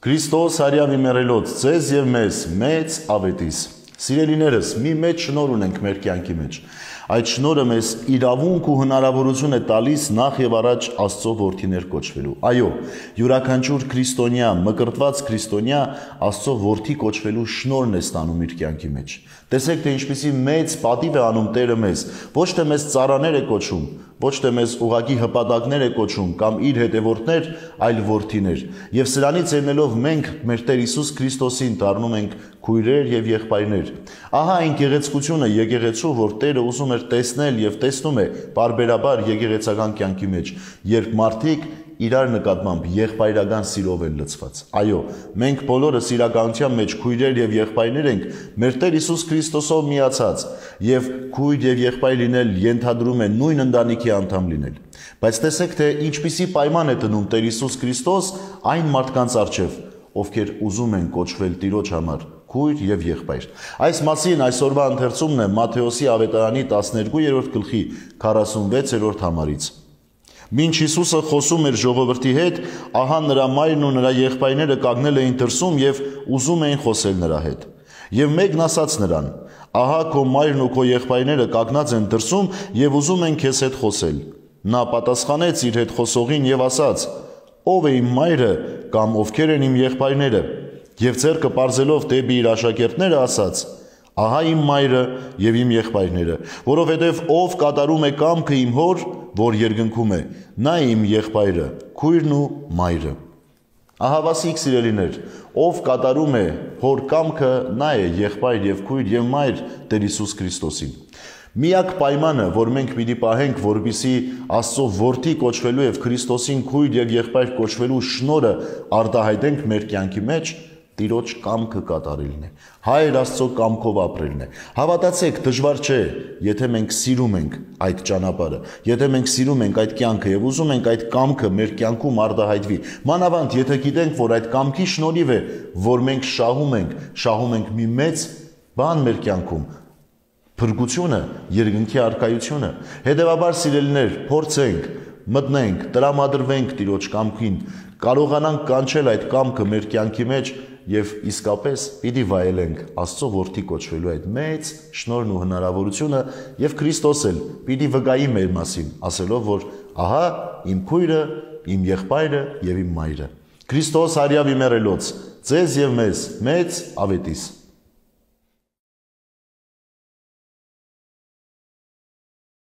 Քրիստոս հարյավի մեռելոց ձեզ եւ մեզ մեծ ավետիս։ Սիրելիներս, մի մեծ շնորհ ունենք մեր կյանքի մեջ։ Այդ շնորհը մեզ իրավունք ու հնարավորություն է տալիս նախ եւ առաջ Աստծո որդիներ կոչվելու։ Այո, յուրաքանչյուր քրիստոնյա, մկրտված քրիստոնյա Աստծո որդի կոչվելու շնորհն է ստանում իր կյանքի մեջ։ Տեսեք, թե ինչպիսի մեծ պատիվ է անում Տերը մեզ, ոչ թե մեզ ծառաներ է կոչում, ոչ թե մեզ ուղղակի հպատակներ է կոչում կամ իր հետևորդներ, այլ որդիներ։ Եվ սրանից ելնելով մենք մեր Տեր Հիսուս Քրիստոսին դառնում ենք քույրեր եւ եղբայրներ։ Ահա այն գեղեցկությունը եկեղեցու, որ Տերը ուզում էր տեսնել եւ տեսնում է բարբերաբար եկեղեցական կյանքի մեջ, երբ մարդիկ իրար նկատմամբ եղբայրական սիրով են լցված։ Այո, մենք բոլորը սիրականության մեջ քույրեր եւ եղբայրներ ենք, մեր Տեր Հիսուս Քրիստոսով միացած, եւ քույր եւ եղբայր լինել ենթադրում է նույն ընտանիքի անդամ լինել։ Բայց տեսեք, թե ինչպիսի պայման է դնում Տեր Հիսուս Քրիստոս այն մարդկանց առջև, ովքեր ուզում են կոչվել Տիրոջ համար քույր եւ եղբայր։ Այս մասին այսօրվա ընթերցումն է Մատթեոսի ավետարանի 12-րդ գլխի 46-րդ համարից։ Մինչ Հիսուսը խոսում էր ժողովրդի հետ, ահա նրա մայրն ու նրա եղբայրները կանգնել էին դրսում եւ ուզում էին խոսել նրա հետ։ Եվ մեկն ասաց նրան. «Ահա քո մայրն ու քո եղբայրները կանգնած են դրսում եւ ուզում են քեզ հետ խոսել»։ Նա պատասխանեց իր հետ խոսողին եւ ասաց. «Ով է իմ մայրը կամ ովքեր են իմ եղբայրները»։ Եվ ձեռքը պարզելով դեպի իր աշակերտները ասաց. «Ահա իմ մայրը եւ իմ եղբայրները, որովհետեւ ով կատարում է կամքը իմ հոր, որ երկնքում է, նա է իմ եղբայրը, քույրն ու մայրը»։ Ահավասիկ սիրելիներ, ով կատարում է հոր կամքը, նա է եղբայր եւ քույր եւ մայր Տեր Հիսուս Քրիստոսին։ Միակ պայմանը, որ մենք պիտի պահենք, որպեսզի Աստծո որդի կոչվելու եւ Քրիստոսին քույր եւ եղբայր կոչվելու շնորհը արտահայտենք մեր կյանքի մեջ, Տիրոջ կամքը կատարելն է, Հայր Աստծո կամքով ապրելն է։ Հավատացեք, դժվար չէ, եթե մենք սիրում ենք այդ ճանապարհը, եթե մենք սիրում ենք այդ կյանքը եւ ուզում ենք այդ կամքը մեր կյանքում արտահայտվի։ Մանավանդ, եթե գիտենք, որ այդ կամքի շնորհիվ է, որ մենք շահում ենք մի մեծ բան մեր կյանքում, փրկությունը, երկնքի առկայությունը։ Հետևաբար, սիրելիներ, փորձենք, մտնենք, տրամադրվենք Տիրոջ կամքին, կարողանանք կանչել այդ կամքը մեր կյանքի մեջ եւ իսկապես պիտի վայելենք Աստծո որդի կոչվելու այդ մեծ շնորհն ու հնարավորությունը եւ Քրիստոս էլ պիտի վկայի մեր մասին, ասելով, որ ահա իմ քույրը, իմ եղբայրը եւ իմ մայրը։ Քրիստոս հարյավի մեռելոց ձեզ եւ մեզ մեծ ավետիս։